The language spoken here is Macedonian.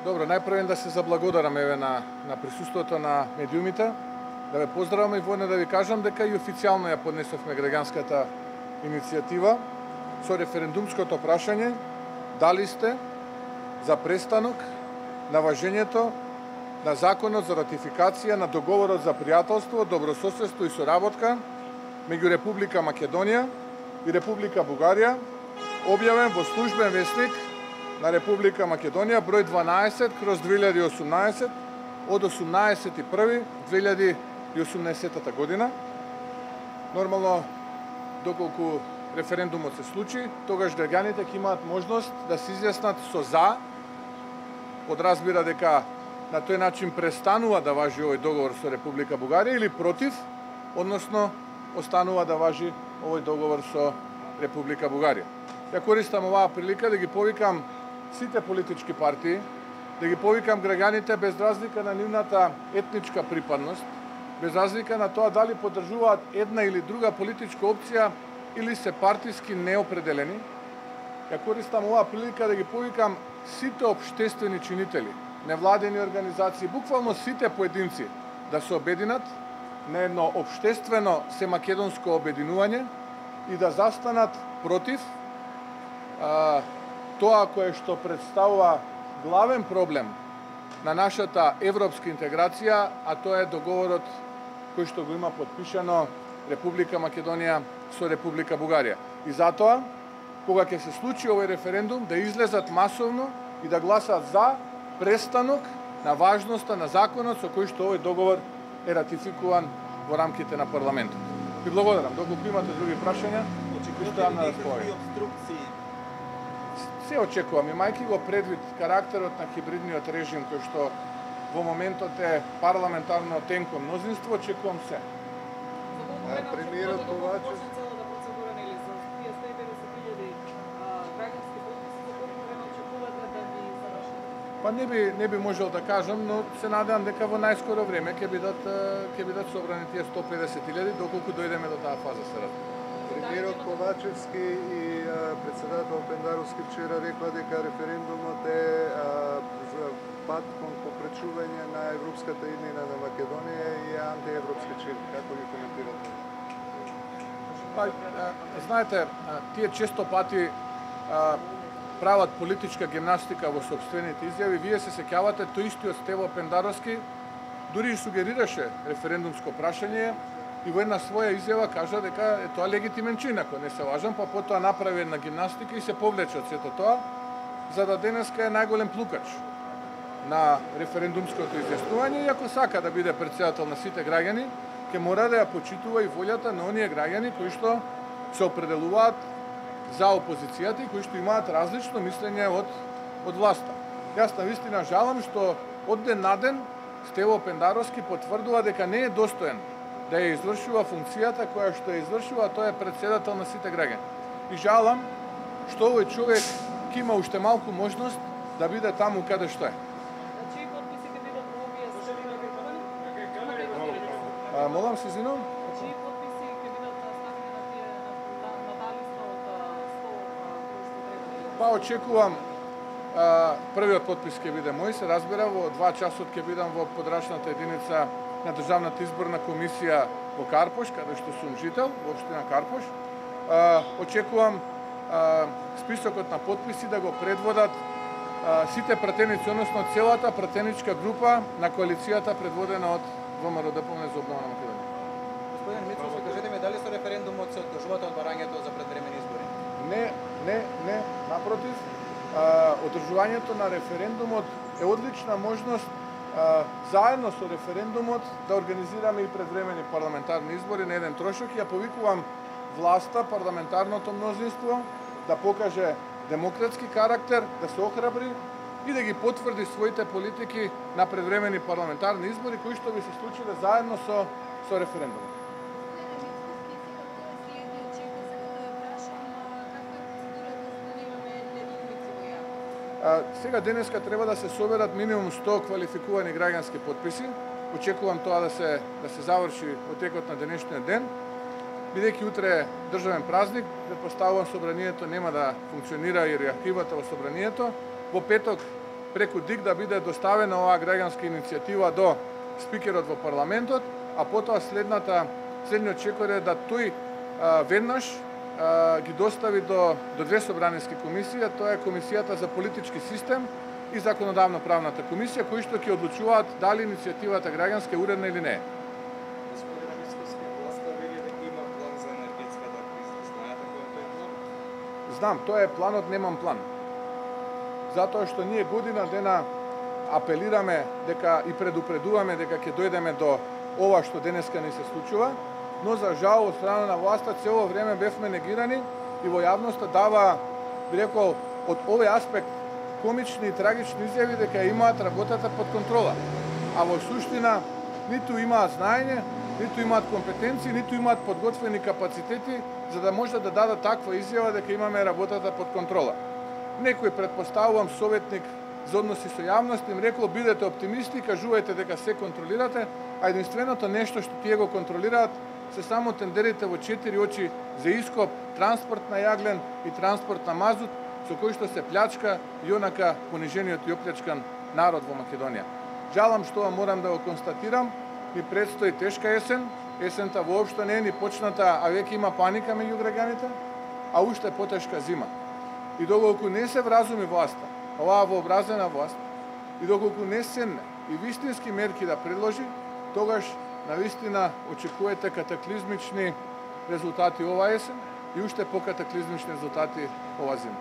Добро, најпрвен да се заблагодарам еве на присуството на медиумите, да ве поздравам и воедно да ви кажам дека и официјално ја поднесовме граѓанската иницијатива со референдумското прашање дали сте за престанок на важењето на законот за ратификација на договорот за пријателство, добрососедство и соработка меѓу Република Македонија и Република Бугарија, објавен во службен весник на Република Македонија број 12/2018 од 18.1.2018 година. Нормално, доколку референдумот се случи, тогаш граѓаните ќе имаат можност да се изјаснат со за, подразбира дека на тој начин престанува да важи овој договор со Република Бугарија, или против, односно останува да важи овој договор со Република Бугарија. Ја користам оваа прилика да ги повикам сите политички партии, да ги повикам граѓаните без разлика на нивната етничка припадност, без разлика на тоа дали поддржуваат една или друга политичка опција или се партиски неопределени. Ја користам оваа прилика да ги повикам сите општествени чинители, невладени организации, буквално сите поединци да се обединат на едно општествено семакедонско обединување и да застанат против тоа кое што представува главен проблем на нашата европска интеграција, а тоа е договорот кој што го има подпишано Република Македонија со Република Бугарија. И затоа, кога ќе се случи овој референдум, да излезат масовно и да гласат за престанок на важноста на законот со кој што овој договор е ратификуван во рамките на парламентот. Ви благодарам. Доколку имате други прашања, оставам на располагање. Се очекувам, имајќи го предвид карактерот на хибридниот режим кој што во моментот е парламентарно тенко мнозинство, очекувам се. Премиерот Ковачев Па не би можел да кажам, но се надевам дека во најскоро време ќе бидат собрани тие 150.000, доколку дојдеме до таа фаза се разбира. Премиерот Ковачевски и председател Пендаровски вчера рекла дека референдумот е за пат кон попречување на европската иднина на Македонија и антиевропски чин. Како ги коментирате? Па, знаете, тие често пати прават политичка гимнастика во собствените изјави. Вие се сеќавате, тој истиот Стево Пендаровски дури и сугерираше референдумско прашање и во една своја изјава кажа дека е тоа легитимен чин, ако не се лажам, па потоа направи една гимнастика и се повлече од сето тоа, за да денеска е најголем плукач на референдумското изјаснување и ако сака да биде претседател на сите граѓани, ќе мора да ја почитува и волјата на оние граѓани кои што се определуваат за опозицијата и кои што имаат различно мислење од власта. Јас навистина жалам што од ден на ден Стево Пендаровски потврдува дека не е достоен да ја извршува функцијата која што ја извршува, тоа е претседател на сите граѓани. И жалам што овој човек ќе има уште малку можност да биде таму каде што е. Чии потписи ќе бидат во овие ставени Молам се, извинувам? Чии потписи ќе бидат ставени на таа листа од 100 кои што треба? Па очекувам првиот потпис ќе биде мој, се разбира, во 2 часот ќе бидам во подрачната единица на Државната изборна комисија во Карпош, каде што сум жител, во општина Карпош. Очекувам списокот на потписи да го предводат сите пратеници, односно целата пратеничка група на коалицијата предводена од ВМРО ДПМНЕ за обнова на Македонија. Господин Мицовски, кажете ми дали со референдумот се откажувате од барањето за предвремени избори? Не, напротив, одржувањето на референдумот е одлична можност заедно со референдумот да организираме и предвремени парламентарни избори на еден трошок. Ја повикувам власта, парламентарното мнозинство да покаже демократски карактер, да се охрабри и да ги потврди своите политики на предвремени парламентарни избори кои што би се случиле заедно со референдумот. Сега денеска треба да се соберат минимум 100 квалификувани граѓански потписи. Очекувам тоа да се заврши во текот на денешниот ден. Бидејќи утре е државен празник, претпоставувам собранието нема да функционира и архивата во собранието. Во петок преку ДИК да биде доставена оваа граѓанска иницијатива до спикерот во парламентот, а потоа следниот чекор е да тој веднаш ги достави до две собраниски комисии, тоа е Комисијата за политички систем и Законодавно-правната комисија, кои што ќе одлучуваат дали иницијативата граѓанска е уредна или не е. Господин Мицкоски, власта вели дека има план за енергетската криза. Знаете кој е тој план? Знам, тоа е планот Немам план. Затоа што ние година дена апелираме дека и предупредуваме дека ќе дојдеме до ова што денеска ни се случува, но за жал од страна на власта цело време бевме негирани и во јавноста дава, би рекол, од овој аспект комични и трагични изјави дека имаат работата под контрола. А во суштина ниту имаат знаење, ниту имаат компетенции, ниту имаат подготвени капацитети за да може да дадат таква изјава дека имаме работата под контрола. Некој, предпоставувам, советник за односи со јавност им рекол бидете оптимисти, кажувајте дека се контролирате, а единственото нешто што тие го контролираат се само тендерите во 4 очи за ископ, транспорт на јаглен и транспорт на мазут, со кој што се плячка и онака понижениот и оплячкан народ во Македонија. Жалам што морам да го констатирам, ни предстои тешка есен, есента воопшто не е ни почната, а веќе има паника меѓу граѓаните, а уште потешка зима. И доколку не се вразуми власта, оваа вообразена власт, и доколку не седне и вистински мерки да предложи, тогаш навистина очекувате катаклизмични резултати оваа есен и уште покатаклизмични резултати ова зима.